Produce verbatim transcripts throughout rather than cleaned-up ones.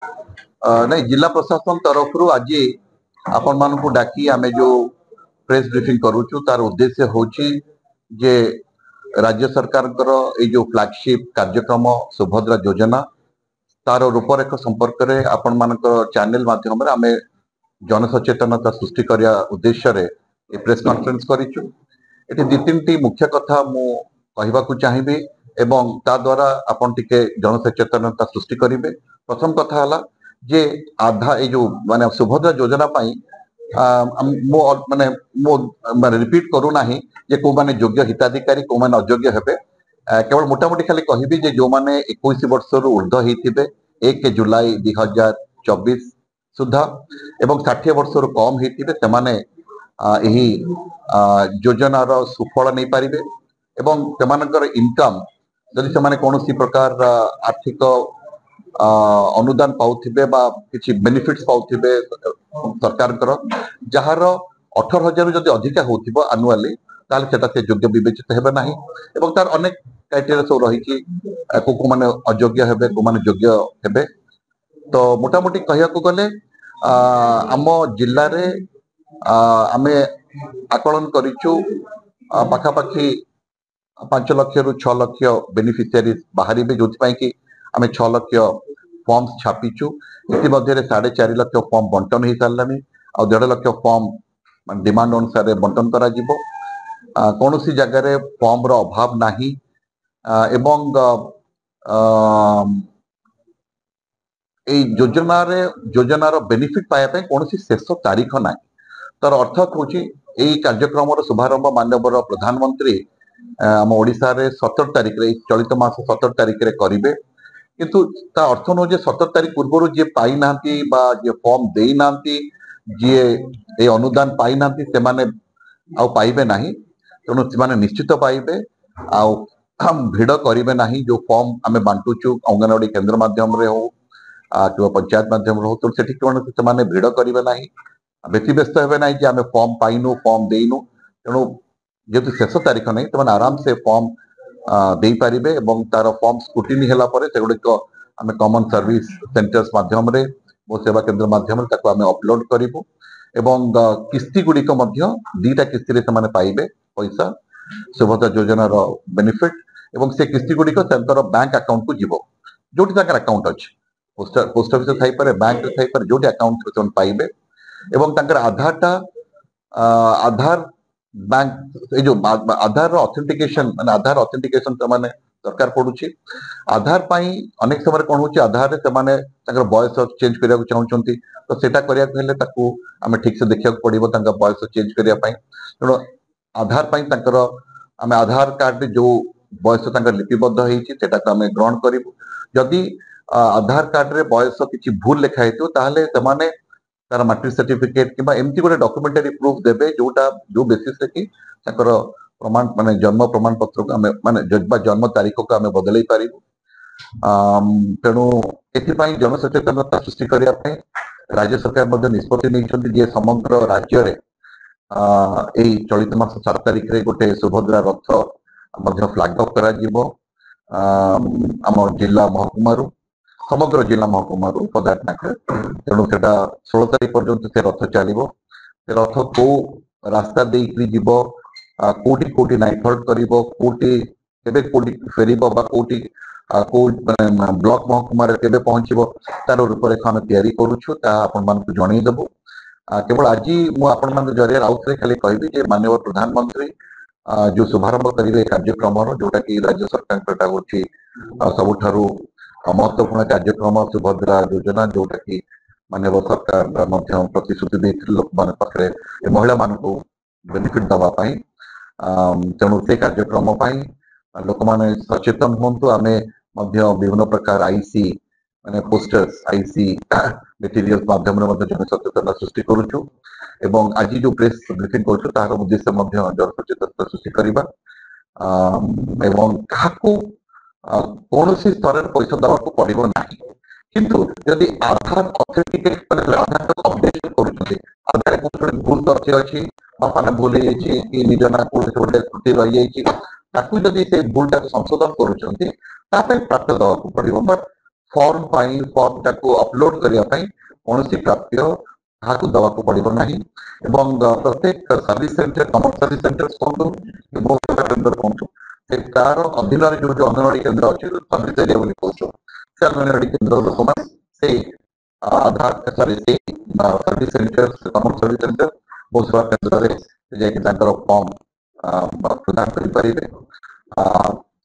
ଅ, ନାଇଁ ଜିଲ୍ଲା ପ୍ରଶାସନ ତରଫରୁ ଆଜି ଆପଣମାନଙ୍କୁ ଡାକି ଆମେ ଯୋଉ ପ୍ରେସ ବ୍ରିଫିଂ କରୁଛୁ ତାର ଉଦ୍ଦେଶ୍ୟ ହେଉଛି ଯେ ରାଜ୍ୟ ସରକାରଙ୍କର ଏଇ ଯୋଉ ଫ୍ଲାଗସିପ କାର୍ଯ୍ୟକ୍ରମ ସୁଭଦ୍ରା ଯୋଜନା ତାର ରୂପରେଖ ସମ୍ପର୍କରେ ଆପଣମାନଙ୍କ ଚ୍ୟାନେଲ ମାଧ୍ୟମରେ ଆମେ ଜନସଚେତନତା ସୃଷ୍ଟି କରିବା ଉଦ୍ଦେଶ୍ୟରେ ଏ ପ୍ରେସ କନଫରେନ୍ସ କରିଛୁ ଏଠି ଦି ତିନିଟି ମୁଖ୍ୟ କଥା ମୁଁ କହିବାକୁ ଚାହିଁବି ଏବଂ ତା ଦ୍ୱାରା ଆପଣ ଟିକେ ଜନସଚେତନତା ସୃଷ୍ଟି କରିବେ ପ୍ରଥମ କଥା ହେଲା ଯେ ଆଧା ଏଇ ଯୋଉ ମାନେ ସୁଭଦ୍ରା ଯୋଜନା ପାଇଁ ଆ, ମୁଁ ଅ- ମାନେ ମୁଁ ମାନେ ରିପିଟ କରୁନାହିଁ ଯେ କୋଉମାନେ ଯୋଗ୍ୟ ହିତାଧିକାରୀ କୋଉମାନେ ଅଯୋଗ୍ୟ ହେବେ ଆ, କେବଳ ମୋଟାମୋଟି ଖାଲି କହିବି ଯେ ଯୋଉମାନେ ଏକୋଇଶ ବର୍ଷରୁ ଉର୍ଦ୍ଧ୍ୱ ହେଇଥିବେ ଏକ ଜୁଲାଇ ଦୁଇ ହଜାର ଚବିଶ ସୁଦ୍ଧା ଏବଂ ଷାଠିଏ ବର୍ଷରୁ କମ ହେଇଥିବେ ସେମାନେ ଆ, ଏହି ଆ, ଯୋଜନାର ସୁଫଳ ନେଇପାରିବେ ଏବଂ ସେମାନଙ୍କର ଇନକମ ଯଦି ସେମାନେ କୌଣସି ପ୍ରକାର ଆର୍ଥିକ ଆ, ଅନୁଦାନ ପାଉଥିବେ ବା କିଛି ବେନିଫିଟ୍ସ ପାଉଥିବେ ସରକାରଙ୍କର ଯାହାର ଅଠର ହଜାରରୁ ଯଦି ଅଧିକା ହଉଥିବ ଆନୁଆଲି ତାହେଲେ ସେଟା ସେ ଯୋଗ୍ୟ ବିବେଚିତ ହେବେ ନାହିଁ ଏବଂ ତାର ଅନେକ କ୍ରାଇଟେରିଆ ସବୁ ରହିଛି ଆ, କୋଉ କୋଉମାନେ ଅଯୋଗ୍ୟ ହେବେ କୋଉମାନେ ଯୋଗ୍ୟ ହେବେ ତ ମୋଟାମୋଟି କହିବାକୁ ଗଲେ ଆ, ଆମ ଜିଲ୍ଲାରେ ଆ, ଆମେ ଆକଳନ କରିଛୁ ଆ, ପାଖାପାଖି ପାଞ୍ଚ ଲକ୍ଷରୁ ଛଅ ଲକ୍ଷ ବେନିଫିସିଆରି ବାହାରିବେ ଯୋଉଥିପାଇଁ କି ଆମେ ଛଅ ଲକ୍ଷ ଫର୍ମ ଛାପିଛୁ ଇତିମଧ୍ୟରେ ସାଢେ ଚାରି ଲକ୍ଷ ଫର୍ମ ବଣ୍ଟନ ହେଇସାରିଲାଣି ଆଉ ଦେଢ ଲକ୍ଷ ଫର୍ମ ମାନେ ଡିମାଣ୍ଡ ଅନୁସାରେ ବଣ୍ଟନ କରାଯିବ ଆ, କୌଣସି ଜାଗାରେ ଫର୍ମର ଅଭାବ ନାହିଁ ଆ, ଏବଂ ଆ, ଏଇ ଯୋଜନାରେ ଯୋଜନାର ବେନିଫିଟ ପାଇବା ପାଇଁ କୌଣସି ଶେଷ ତାରିଖ ନାହିଁ ତାର ଅର୍ଥ ହଉଛି ଏଇ କାର୍ଯ୍ୟକ୍ରମର ଶୁଭାରମ୍ଭ ମାନ୍ୟବର ପ୍ରଧାନମନ୍ତ୍ରୀ ଆ, ଆମ ଓଡିଶାରେ ସତର ତାରିଖରେ ଏଇ ଚଳିତ ମାସ ସତର ତାରିଖରେ କରିବେ କିନ୍ତୁ ତା ଅର୍ଥ ନୁହଁ ଯେ ସତର ତାରିଖ ପୂର୍ବରୁ ଯିଏ ପାଇନାହାନ୍ତି ବା ଯିଏ ଫର୍ମ ଦେଇନାହାନ୍ତି ଯିଏ ଏଇ ଅନୁଦାନ ପାଇନାହାନ୍ତି ସେମାନେ ଆଉ ପାଇବେ ନାହିଁ ତେଣୁ ସେମାନେ ନିଶ୍ଚିତ ପାଇବେ ଆଉ ଭିଡ କରିବେ ନାହିଁ ଯୋଉ ଫର୍ମ ଆମେ ବାଣ୍ଟୁଛୁ ଅଙ୍ଗନବାଡି କେନ୍ଦ୍ର ମାଧ୍ୟମରେ ହଉ ଆ, କିମ୍ବା ପଞ୍ଚାୟତ ମାଧ୍ୟମରେ ହଉ ତେଣୁ ସେଠି କୌଣସି ସେମାନେ ଭିଡ କରିବେ ନାହିଁ ବ୍ୟତିବ୍ୟସ୍ତ ହେବେ ନାହିଁ ଯେ ଆମେ ଫର୍ମ ପାଇନୁ ଫର୍ମ ଦେଇନୁ ତେଣୁ ଯେହେତୁ ଶେଷ ତାରିଖ ନାହିଁ ସେମାନେ ଆରାମସେ ଫର୍ମ ଆ, ଦେଇପାରିବେ ଏବଂ ତାର ଫର୍ମ ସ୍କ୍ରୁଟିନି ହେଲା ପରେ ସେଗୁଡିକ ଆମେ କମନ ସର୍ଭିସ ସେଣ୍ଟର୍ସ ମାଧ୍ୟମରେ ମୋ ସେବା କେନ୍ଦ୍ର ମାଧ୍ୟମରେ ତାକୁ ଆମେ ଅପଲୋଡ କରିବୁ ଏବଂ ଅ, କିସ୍ତି ଗୁଡିକ ମଧ୍ୟ ଦିଟା କିସ୍ତିରେ ସେମାନେ ପାଇବେ ପଇସା ସୁଭଦ୍ରା ଯୋଜନାର ବେନିଫିଟ ଏବଂ ସେ କିସ୍ତି ଗୁଡିକ ତାଙ୍କର ବ୍ୟାଙ୍କ ଆକାଉଣ୍ଟକୁ ଯିବ ଯୋଉଠି ତାଙ୍କର ଆକାଉଣ୍ଟ ଅଛି ପୋଷ୍ଟ ପୋଷ୍ଟ ଅଫିସରେ ଥାଇପାରେ ବ୍ୟାଙ୍କରେ ଥାଇପାରେ ଯୋଉଠି ଆକାଉଣ୍ଟ ଥିବ ସେମାନେ ପାଇବେ ଏବଂ ତାଙ୍କର ଆଧାରଟା ଆ, ଆଧାର ବ୍ୟାଙ୍କ ଏଇ ଯୋଉ ଆଧାରର ଅଥେଣ୍ଟିକେସନ ମାନେ ଆଧାର ଅଥେଣ୍ଟିକେସନ ସେମାନେ ଦରକାର ପଡୁଛି ଆଧାର ପାଇଁ ଅନେକ ସମୟରେ କଣ ହଉଛି ଆଧାରରେ ସେମାନେ ତାଙ୍କର ବୟସ ଚେଞ୍ଜ କରିବାକୁ ଚାହୁଁଛନ୍ତି ତ ସେଇଟା କରିବାକୁ ହେଲେ ତାକୁ ଆମେ ଠିକ ସେ ଦେଖିବାକୁ ପଡିବ ତାଙ୍କ ବୟସ ଚେଞ୍ଜ କରିବା ପାଇଁ ତେଣୁ ଆଧାର ପାଇଁ ତାଙ୍କର ଆମେ ଆଧାର କାର୍ଡରେ ଯୋଉ ବୟସ ତାଙ୍କର ଲିପିବଦ୍ଧ ହେଇଛି ସେଟାକୁ ଆମେ ଗ୍ରହଣ କରିବୁ ଯଦି ଆ, ଆଧାର କାର୍ଡରେ ବୟସ କିଛି ଭୁଲ ଲେଖା ହେଇଥିବ ତାହେଲେ ସେମାନେ ତାର ମାଟ୍ରିକ ସାର୍ଟିଫିକେଟ କିମ୍ବା ଏମିତି ଗୋଟେ ଡକୁମେଣ୍ଟାରୀ ପ୍ରୁଫ ଦେବେ ଯୋଉଟା ଯୋଉ ବେସିସରେ କି ତାଙ୍କର ପ୍ରମାଣ ମାନେ ଜନ୍ମ ପ୍ରମାଣ ପତ୍ରକୁ ଆମେ ମାନେ ଜ- ବା ଜନ୍ମ ତାରିଖକୁ ଆମେ ବଦଳେଇ ପାରିବୁ ଆମ୍, ତେଣୁ ଏଥିପାଇଁ ଜନସଚେତନତା ସୃଷ୍ଟି କରିବା ପାଇଁ ରାଜ୍ୟ ସରକାର ମଧ୍ୟ ନିଷ୍ପତ୍ତି ନେଇଛନ୍ତି ଯେ ସମଗ୍ର ରାଜ୍ୟରେ ଆ, ଏଇ ଚଳିତ ମାସ ସାତ ତାରିଖରେ ଗୋଟେ ସୁଭଦ୍ରା ରଥ ମଧ୍ୟ ଫ୍ଲାଗ ଅଫ୍ କରାଯିବ ଆମ୍, ଆମ ଜିଲ୍ଲା ମହକୁମାରୁ ସମଗ୍ର ଜିଲ୍ଲା ମହକୁମାରୁ ପଦାର୍ପଣରେ ତେଣୁ ସେଟା ଷୋହଳ ତାରିଖ ପର୍ଯ୍ୟନ୍ତ ସେ ରଥ ଚାଲିବ ସେ ରଥ କୋଉ ରାସ୍ତା ଦେଇକିରି ଯିବ ଆ, କୋଉଠି କୋଉଠି ନାଇଟ୍ ହଲ୍ଟ କରିବ କୋଉଠି କେବେ କୋଉଠି ଫେରିବ ବା କୋଉଠି ଆ, କୋଉ ମାନେ ବ୍ଲକ ମହକୁମାରେ କେବେ ପହଞ୍ଚିବ ତାର ରୂପରେଖ ଆମେ ତିଆରି କରୁଛୁ ତାହା ଆପଣମାନଙ୍କୁ ଜଣେଇଦେବୁ ଆ, କେବଳ ଆଜି ମୁଁ ଆପଣମାନଙ୍କ ଜରିଆରେ ଆଉଥରେ ଖାଲି କହିବି ଯେ ମାନ୍ୟବର ପ୍ରଧାନମନ୍ତ୍ରୀ ଆ, ଯୋଉ ଶୁଭାରମ୍ଭ କରିବେ ଏ କାର୍ଯ୍ୟକ୍ରମର ଯୋଉଟା କି ରାଜ୍ୟ ସରକାରଙ୍କର ଏଟା ହଉଛି ଆ, ସବୁଠାରୁ ମହତ୍ୱପୂର୍ଣ୍ଣ କାର୍ଯ୍ୟକ୍ରମ ସୁଭଦ୍ରା ଯୋଜନା ଯୋଉଟା କି ମାନ୍ୟବର ସରକାର ମଧ୍ୟ ପ୍ରତିଶ୍ରୁତି ଦେଇଥିଲେ ଲୋକମାନଙ୍କ ପାଖରେ ଏ ମହିଳାମାନଙ୍କୁ ବେନିଫିଟ ଦବା ପାଇଁ ଆମ୍, ତେଣୁ ସେ କାର୍ଯ୍ୟକ୍ରମ ପାଇଁ ଲୋକମାନେ ସଚେତନ ହୁଅନ୍ତୁ ଆମେ ମଧ୍ୟ ବିଭିନ୍ନ ପ୍ରକାର ଆଇସି ମାନେ ପୋଷ୍ଟର୍ସ ଆଇସି ମେଟେରିଆଲ ମାଧ୍ୟମରେ ମଧ୍ୟ ଜନସଚେତନତା ସୃଷ୍ଟି କରୁଛୁ ଏବଂ ଆଜି ଯୋଉ ପ୍ରେସ ବ୍ରିଫିଂ କରୁଛୁ ତାହାର ଉଦ୍ଦେଶ୍ୟ ମଧ୍ୟ ଜନସଚେତନତା ସୃଷ୍ଟି କରିବା ଆମ୍, ଏବଂ କାହାକୁ ଆ, କୌଣସି ସ୍ତରରେ ପଇସା ଦେବାକୁ ପଡିବ ନାହିଁ କିନ୍ତୁ ଯଦି ଆଧାର ଅଥେଣ୍ଟିକେଟ ମାନେ ଆଧାର ଅପଡେସନ କରୁଛନ୍ତି ଆଧାରରେ କୌଣସି ଗୋଟେ ଭୁଲ ତଥ୍ୟ ଅଛି ବାପା ନାଁ ଭୁଲ ହେଇଯାଇଛି କି ନିଜ ନାଁ କୌଣସି ଗୋଟେ ତ୍ରୁଟି ରହିଯାଇଛି ତାକୁ ଯଦି ସେ ଭୁଲଟାକୁ ସଂଶୋଧନ କରୁଛନ୍ତି ତା ପାଇଁ ପ୍ରାପ୍ୟ ଦେବାକୁ ପଡିବ ବଟ୍ ଫର୍ମ ପାଇଁ ଫର୍ମଟାକୁ ଅପଲୋଡ କରିବା ପାଇଁ କୌଣସି ପ୍ରାପ୍ୟ କାହାକୁ ଦେବାକୁ ପଡିବ ନାହିଁ ଏବଂ ପ୍ରତ୍ୟେକ service center common service center କୁହନ୍ତୁ କି ମୋ ସେବା କେନ୍ଦ୍ର କୁହନ୍ତୁ ସେ ତାର ଅଧୀନରେ ଯୋଉ ଯୋଉ ଅଙ୍ଗନବାଡି କେନ୍ଦ୍ର ଅଛି ସର୍ଭିସ ଏରିଆ ବୋଲି କହୁଛୁ ସେ ଅଙ୍ଗନବାଡି କେନ୍ଦ୍ର ଲୋକମାନେ ସେଇ ଆଧାର ସରି ସେଇ service center common service center ମୋ ସେବା କେନ୍ଦ୍ରରେ ଯାଇକି ତାଙ୍କର ଫର୍ମ ପ୍ରଦାନ କରିପାରିବେ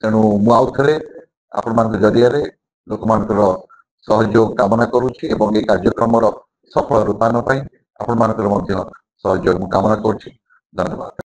ତେଣୁ ମୁଁ ଆଉ ଥରେ ଆପଣମାନଙ୍କ ଜରିଆରେ ଲୋକମାନଙ୍କର ସହଯୋଗ କାମନା କରୁଛି ଏବଂ ଏଇ କାର୍ଯ୍ୟକ୍ରମର ସଫଳ ରୂପାୟନ ପାଇଁ ଆପଣମାନଙ୍କର ମଧ୍ୟ ସହଯୋଗ ମୁଁ କାମନା କରୁଛି ଧନ୍ୟବାଦ